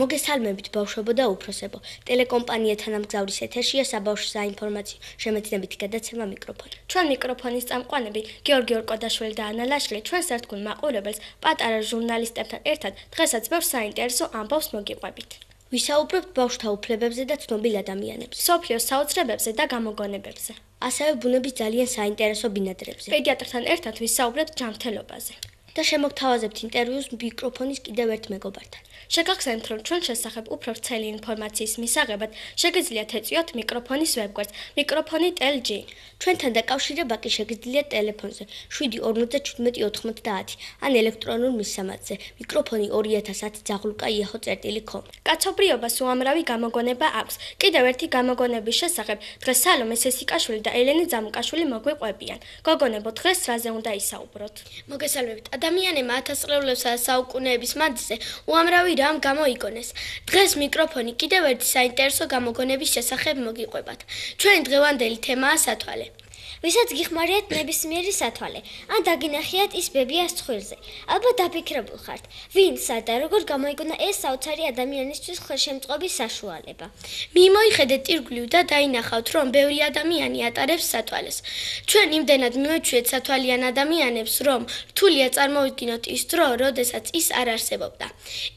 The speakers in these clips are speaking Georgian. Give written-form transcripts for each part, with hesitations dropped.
მოგესალმებით ბავშვებო და უფროსებო. ტელეკომპანიათან ამგზავრის ეთერშია საბავშვო საინფორმაციო შემეცნებითი გადაცემა მიკროფონი. ჩვენ მიკროფონის წამყვანები გიორგი ორკოდაშვილი და ანა ლაშლი ჩვენ სართქულ მაყურებელს პატარა ჟურნალისტებთან ერთად დღესაც ბევრ საინტერესო ამბავს მოგიყვებით. ვისაუბრებთ ბავშვთა უფლებებზე და ცნობილ ადამიანებზე, სოფლიოს საოცრებებზე და გამოგონებებზე. ასევე ბუნების ძალიან საინტერესო ბინადრებზე. პედიატრთან ერთად ვისაუბრებთ ჯანმრთელობაზე. და შემოგთავაზებთ ინტერვიუს მიკროფონის კიდევ ერთ მეგობართან. შეგახსენებთ, რომ ჩვენ შესახებ უფრო ვრცელი ინფორმაციის მისაღებად შეგიძლიათ ეწვიოთ მიკროფონის ვებგვერდს mikrofoni.lg. ჩვენთან დაკავშირება კი შეგიძლიათ ტელეფონზე 7 ან ელექტრონულ მისამართზე მიკროფონი 2010@yahoo.com. კაცობრიობას უამრავი გამოგონება აქვს. კიდევ ერთი გამოგონების შესახებ დღეს სალომე სესიკაშვილი და ელენე ძამუკაშვილი მოგვიყვებიან. გოგონებო, დღეს რაზე უნდა ისაუბროთ? მოგესალმებით. ადამიანებმა ათასწლეულებსა და საუკუნეების მანძილზე უამრავი რამ გამოიგონეს. დღეს მიკროფონი კიდევ ერთი საინტერესო გამოგონების შესახებ მოგიყვებათ. ჩვენი დღევანდელი თემაა სათვალე. ვისაც გიხმარიათ ნებისმიერი სათვალე, ან დაგინახიათ ის ბებიას ცხვირზე. ალბათ დაფიქრებულ ხართ, ვინსა და როგორ გამოიგონა ეს საოცარი ადამიანისთვის ხელშემწყობის საშუალება. მიმოიხედეთ ირგვლივ და დაინახავთ, რომ ბევრი ადამიანი ატარებს სათვალეს. ჩვენ იმდენად მივეჩვიეთ სათვალიან ადამიანებს, რომ რთულია წარმოვიდგინოთ ის დრო, როდესაც ის არ არსებობდა.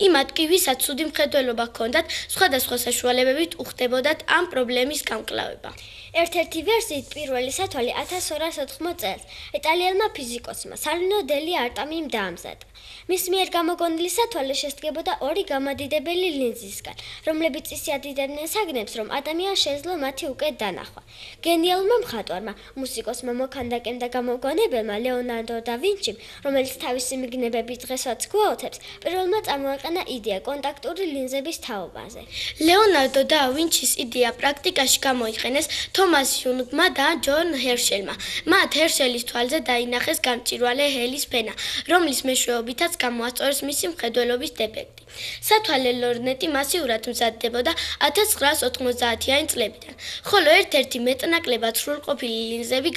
იმათ კი, ვისაც ცუდი მხედველობა ჰქონდათ, სხვადასხვა საშუალებებით უხდებოდათ ამ პრობლემის გამკლავება. ერთ-ერთი ვერსიით პირველი სათვალე 1280 წელს იტალიელმა ფიზიკოსმა სალინო დელი არტამიმ დაამზადა. მის მიერ გამოგონილი სათვალე შესდგებოდა ორი გამადიდებელი ლინზისგან, რომლებიც ისე ადიდებდნენ საგნებს, რომ ადამიანს შეეძლო მათი უკეთ დანახვა. გენიალურმა მხატვარმა, მუსიკოსმა, მოქანდაკემ და გამოგონებელმა ლეონარდო და ვინჩიმ, რომელიც თავისი მიგნებებით დღესაც გვაოთებს, პირველმა წარმოაყენა იდეა კონტაქტური ლინზების თაობაზე. ლეონარდო და ვინჩის იდეა პრაქტიკაში გამოიყენეს თომას იუნგმა და ჯონ ჰერშელმა. მათ ჰერშელის თვალზე დაინახეს გამჭვირვალე ჰელის ფენა, რომლის მეშვეობითაც გამოასწორეს მისი მხედველობის დეფექტი. სათვალე ლორნეტი მასიურად მზადდებოდა 1990-იანი წლებიდან, ხოლო ერთ-ერთი მეტნაკლებად სრულყოფილი ლინზები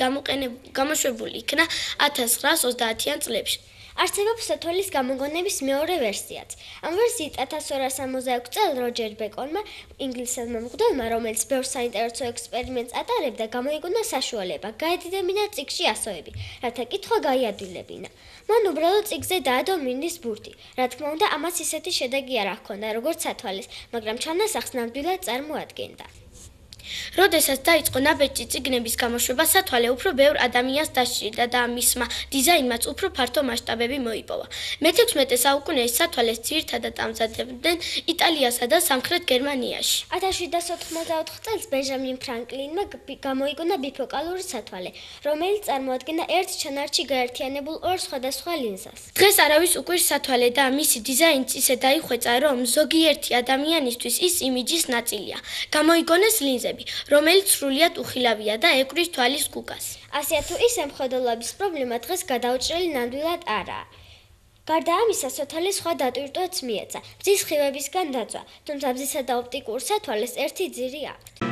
გამოშვებული იქნა 1930-იან წლებში. არსებობს სათვალის გამოგონების მეორე ვერსიაც. ამ ვერსიით 1266 წელს როჯერ ბეკონმა, ინგლისელმა მღვდელმა, რომელიც ბევრ საინტერესო ექსპერიმენტს ატარებდა, გამოიგონა საშუალება გაედიდებინა წიგნში ასოები, რათა კითხვა გაიადვილებინა. მან უბრალოდ წიგნზე დაადო მინის ბურთი. რა თქმა უნდა, ამას ისეთი შედეგი არ ჰქონდა, როგორც სათვალეს, მაგრამ ჩანასახს ნამდვილად წარმოადგენდა. როდესაც დაიწყო ნაბეჭდი წიგნების გამოშვება, სათვალე უფრო ბევრ ადამიანს დასჭირდა და მისმა დიზაინმაც უფრო ფართო მასშტაბები მოიპოვა. მე-16 საუკუნეში სათვალეს ძირითადად ამზადებდნენ იტალიასა და სამხრეთ გერმანიაში. 1784 წელს ბენჟამინ ფრანკლინმა გამოიგონა ბიფოკალური სათვალე, რომელიც წარმოადგენდა ერთ ჩანართში გაერთიანებულ ორ სხვადასხვა ლინზას. დღეს არავის უკვირს სათვალე და მისი დიზაინიც ისე დაიხვეწა, რომ ზოგიერთი ადამიანისთვის ის იმიჯის ნაწილია. გამოიგონეს ლინზები, რომელიც სრულიად უხილავია და ეკვრის თვალის გუგას. ასეა თუ ისე მხედველობის პრობლემა დღეს გადაუჭრელი ნამდვილად არაა. გარდა ამისა, სათვალე სხვა დატვირთვაც მიეცა, ბძის სხივებისგან დაწვა, თუმცა ბძისა და ოპტიკურ სათვალეს ერთი ძირი აქვთ.